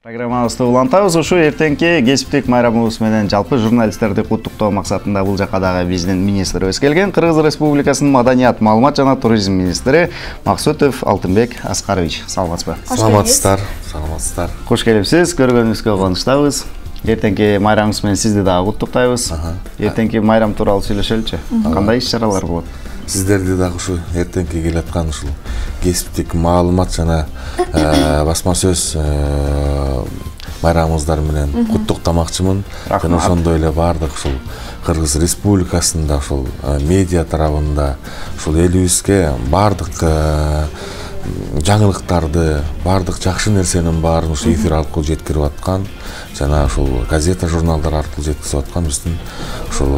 Программабызды улантабыз. Ушу эртеңки кесиптик майрамыбыз менен жалпы журналисттерди куттуктоо максатында бул жака дагы биздин министрибиз келген. Кыргыз Республикасынын маданият, маалымат жана туризм министри Максутов Алтынбек Аскарович. Саламатсызбы? Саламатсыздар. Саламатсыздар. Кош келипсиз. Көргөнүбүзгө кубанычтабыз. Эртеңки майрамыбыз менен сизди дагы куттуктайбыз. Эртеңки майрам тууралуу сүйлөшөлүчү. Кандай иш-чаралар болот? Сиздерди дагы ушу эртеңки келаткан ушул кесиптик маалымат жана басма сөз майрамыңыздар менен куттуктамакчымын. Жана ошондой эле баардык ушул Кыргыз Республикасында ушул медиа тарабында ушул элибизге баардык жаңылыктарды, баардык жакшы нерсенин баарын ушу эфир аркылуу жеткирип аткан жана ушул газета, журналдар аркылуу жеткизип аткан биздин ушул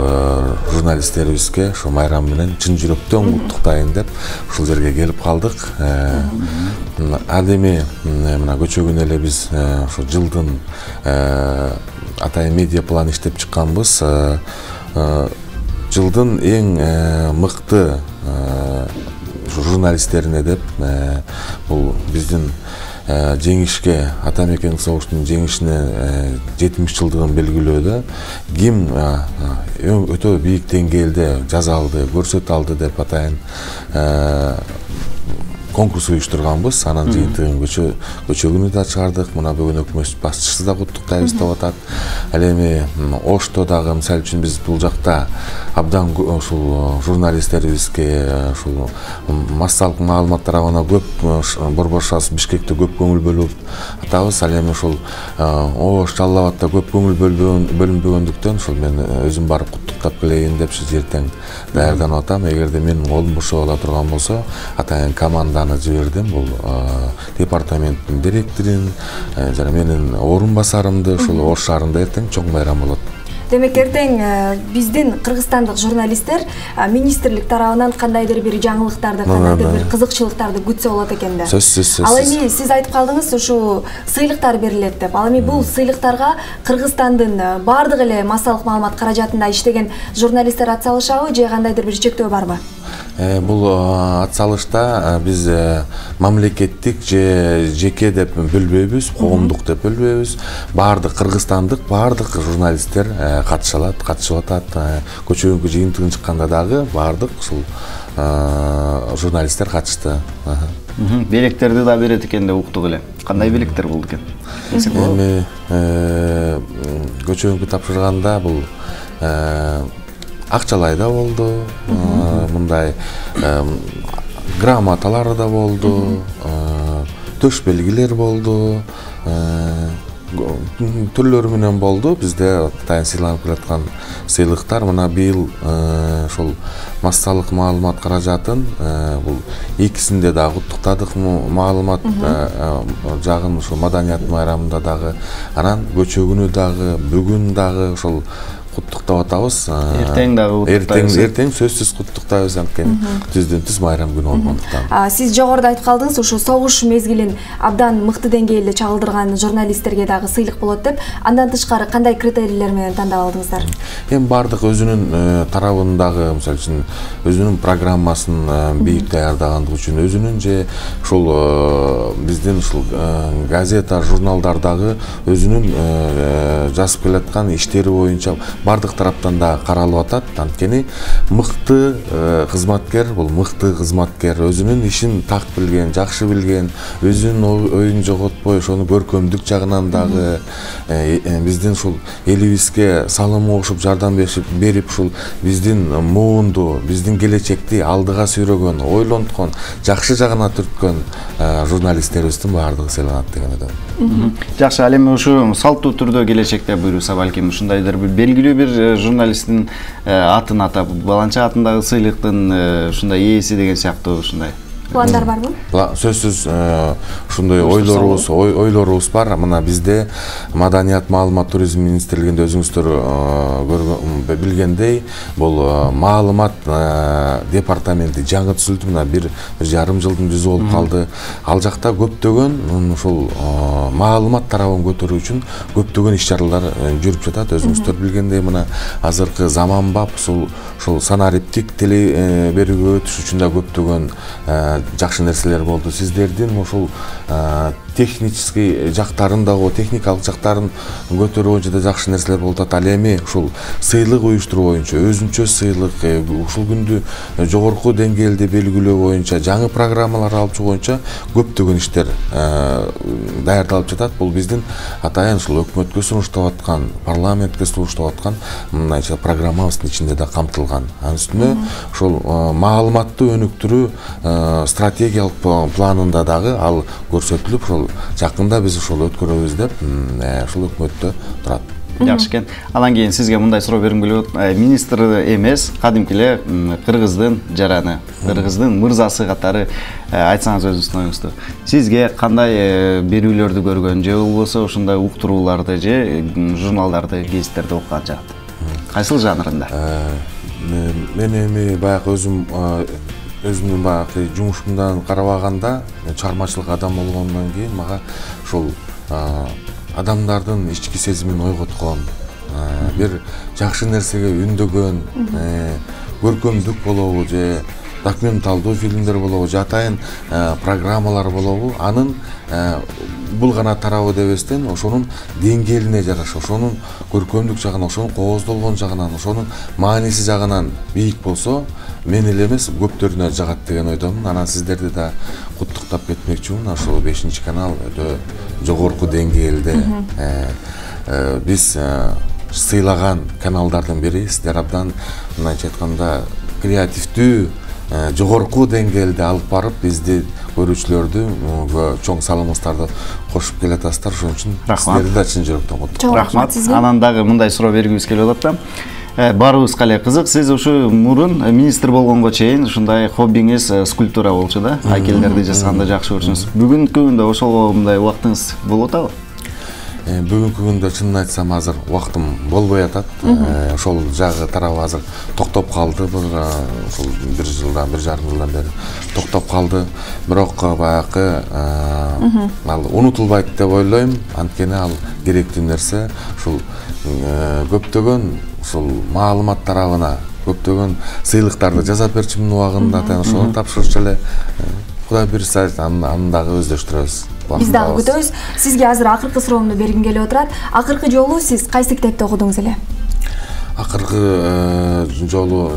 журналисттерибизге ушул майрам менен чын жүрөктөн куттуктайын деп ушул жерге келип калдык. Ал эми мына көчөгүн эле биз ушул жылдын атайын медиа план иштеп чыкканбыз. Жылдын эң мыкты журналисттерине деп бул биздин жеңишке, ата мекен согуштун жеңишине 70 жылдыгын белгилөөдө ким өтө бийик деңгээлде жаза алды, көрсөтө алды деп атайын конкурс уюштурганбыз. Анан жыйынтыгын көчөгүнү да чыгардык. Мына бүгүн өкмөт башчысы да куттуктайбыз деп атат. Ал эми Ошто дагы мисалы үчүн биз бул жакта абдан ушул журналисттерибизге ушул массалык маалымат тарабына көп Борбор шаһарыбыз Бишкекте көп көңүл бөлүп атабыз. Ал эми ушул Ош, Жалал Абадта көп көңүл бөлүнбөгөндүктөн ушул мен өзүм барып куттуктап келейин деп ушул ертең даярданып атам. Эгерде менин колум бошо ала турган болсо, атайын команда жибердим. Бул департаменттин директорун жана менин орун басарымды ушул Ош шаарында эртең чоң майрам болот. Демек эртең биздин кыргызстандык журналисттер министрлик тарабынан кандайдыр бир жаңылыктарды, кандайдыр бир кызыкчылыктарды күтсө болот экен да. Сөзсүз. Ал эми сиз айтып калдыңыз ушу сыйлыктар берилет деп. Ал эми бул сыйлыктарга Кыргызстандын бардык эле массалык маалымат каражатында иштеген журналисттер атсалышабы же кандайдыр бир чектөө барбы? Бул атсалышта биз мамлекеттик же жеке деп бөлбөйбүз, коомдук деп бөлбөйбүз. Баардык кыргызстандык баардык журналисттер катышып атат. Көчөгүнкү жыйынтыгын чыкканда дагы баардык ушул журналисттер катышты. Белектерди да берет экен деп уктук эле. Кандай белектер болду экен? Эми көчөгүнкү тапшырганда бул акчалай да болду, мындай грамоталар да болду, төш белгилер болду, түрлөрү менен болду. Бизде атайын сыйланып келаткан сыйлыктар мына быйыл ушул массалык маалымат каражатын бул экисинде дагы куттуктадык, маалымат жагын ушул маданият майрамында дагы, анан көчөгүнү дагы, бүгүн дагы ушул куттуктап атабыз. Эртең дагы куттуктайбыз. Эртең сөзсүз куттуктайбыз, анткени түздөн-түз майрам күнү болгондуктан. Сиз жогоруда айтып калдыңыз, ушу согуш мезгилин абдан мыкты деңгээлде чагылдырган журналисттерге дагы сыйлык болот деп. Андан тышкары кандай критерийлер менен тандап алдыңыздар? Эми бардык өзүнүн тарабындагы, мисалы үчүн өзүнүн программасын бийик даярдагандыгы үчүн, өзүнүн же ушул биздин ушул газета, журналдардагы өзүнүн жазып келаткан иштери боюнча бардык тараптан да каралып атат. Анткени мыкты кызматкер, бул мыкты кызматкер, өзүнүн ишин так билген, жакшы билген, өзүнүн оюн жоготпой, ошону көркөмдүк жагынан дагы биздин ушул элибизге салымы кошуп, жардам берип, ушул биздин муунду, биздин келечекти алдыга сүйрөгөн, ойлонткон, жакшы жагына түрткөн журналисттерибиздин баардыгы сыйланат деген ойдомун. Жакшы, ал эми ушу салттуу түрдө келечекте буйруса балким ушундайдыр бир белгилүү бир журналисттин атын атап, баланча атындагы сыйлыктын ушундай ээси деген сыяктуу ушундай пландар барбы? Сөзсүз ушундай ойлорубуз бар. Мына бизде маданият, маалымат, туризм министрлигинде өзүңүздөр билгендей, бул маалымат департаменти жаңы түзүлдү. Мына бир жарым жылдын жүзү болуп калды. Ал жакта көптөгөн ушул маалымат тарабын көтөрүү үчүн көптөгөн иш-чаралар жүрүп жатат. Өзүңүздөр билгендей, мына азыркы заманбап ушул санариптик теле берүүгө өтүш үчүн да көптөгөн жакшы нерселер болду. Сиздердин ушул технический жактарын дагы, техникалык жактарын көтөрүү боюнча да жакшы нерселер болуп атат. Ал эми ушул сыйлык уюштуруу боюнча, өзүнчө сыйлык, ушул күндү жогорку деңгээлде белгилөө боюнча, жаңы программалар алып чыгуу боюнча көптөгөн иштер даярдалып жатат. Бул биздин атайын ушул өкмөткө сунуштап аткан, парламентке сунуштап аткан мындайча программабыздын ичинде да камтылган. Анын үстүнө ошол маалыматтуу өнүктүрүү стратегиялык планында дагы ал көрсөтүлүп, ошол жакында биз ошол өткөрөбүз деп ушул өкмөттө турат. Жакшы экен. Анан кийин сизге мындай суроо бергим келип атат. Министр эмес, кадимки эле Кыргыздын жараны, Кыргыздын мырзасы катары айтсаңыз өзүңүздүн оюңузду. Сизге кандай берүүлөрдү көргөн, же болбосо ушундай уктурууларды же журналдарды, гезиттерди окуган жагат? Кайсыл жанрында? Мен эми баягы өзүмдүн баягы жумушумдан карабаганда, чыгармачылык адам болгондон кийин мага ушул адамдардын ички сезимин ойготкон, бир жакшы нерсеге үндөгөн, көркөмдүк болобу же документалдуу фильмдер болобу же атайын программалар болобу, анын бул гана тарабы дебестен ошонун деңгээлине жараша, ошонун көркөмдүк жагынан, ошонун кооздолгон жагынан, ошонун мааниси жагынан бийик болсо, мен эле эмес көптөрүнө жагат деген ойдомун. Анан сиздерди да куттуктап кетмекчимин. Ошол 5-канал өтө жогорку деңгээлде биз сыйлаган каналдардын бири. Сиздер абдан мындайча айтканда креативдүү, жогорку деңгээлде алып барып бизди көрүүчүлөрдү чоң салымыңыздарды кошуп келатасыздар. Ошон үчүн сиздерди да чын жүрөктөн куттуктайм. Рахмат. Анан дагы мындай суроо бергибиз келип атат да. Барыбызга эле кызык. Сиз ушу мурун министр болгонго чейин ушундай хоббиңиз скульптура болчу да. Айкелдерди жасаганды жакшы көрсүңүз. Бүгүнкү күндө ошого мындай убактыңыз болуп атабы? Бүгүнкү күндө чынын айтсам азыр убактым болбой атат. Ошол жагы тарабы азыр токтоп калды. Ушул 1 жылдан, 1,5 жылдан бери токтоп калды. Бирок баягы ал унутулбайт деп ойлойм. Анткени ал керектүү нерсе. Ушул көптөгөн ушул маалымат тарабына көптөгөн сыйлыктарды жасап берчүмүн убагында, ошону тапшырчу эле. Кудай буйрса аны дагы өздөштүрөбүз. Биз дагы күтөбүз. Сизге азыр акыркы суроомду бергим келип отурат. Акыркы жолу сиз кайсы китепти окудуңуз эле? Акыркы жолу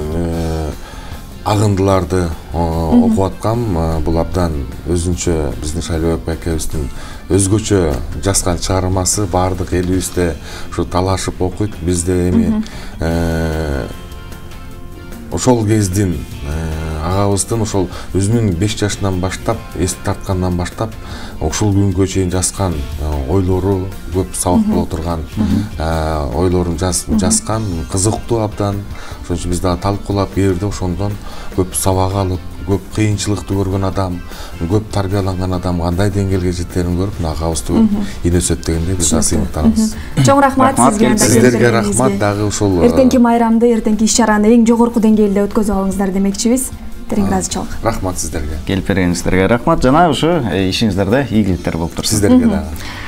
агындыларды окуп аткам. Бул абдан өзүнчө биздин Шайлообек байкебиздин өзгөчө жазган чыгармасы. Баардык элибизде ушу талашып окуйт. Бизде эми ошол кездин агабыздын ошол өзүнүн 5 жашынан баштап, эсип тарткандан баштап ушул күнгө чейин жазган ойлору көп сабак боло турган ойлорун жазган, кызыктуу абдан. Ошон үчүн биз дагы талкуулап, кээ бирде ошондон көп сабак алып, көп кыйынчылыкты көргөн адам, көп тарбияланган адам кандай деңгээлге жетерин көрүп, агабызды инесет дегенде биз да сыймыктанабыз. Чоң рахмат сизге. Сиздерге рахмат. Дагы ушул эртеңки майрамды, эртеңки иш-чараны эң жогорку деңгээлде өткөзүп алыңыздар демекчибиз. Терең ыраазычылык. Рахмат сиздерге. Келип бергениңиздерге рахмат. Жана ушу ишиңиздерде ийгиликтер болуп турсун. Сиздерге да.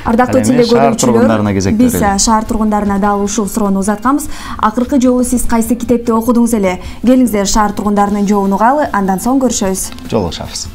Ардактуу телегөрүүчүлөр, биз шаар тургундарына дал ушул суроону узатканбыз. Акыркы жолу сиз кайсы китепти окудуңуз эле? Келиңиздер шаар тургундарынын жообун угалы, андан соң көрүшөбүз. Жолугушабыз.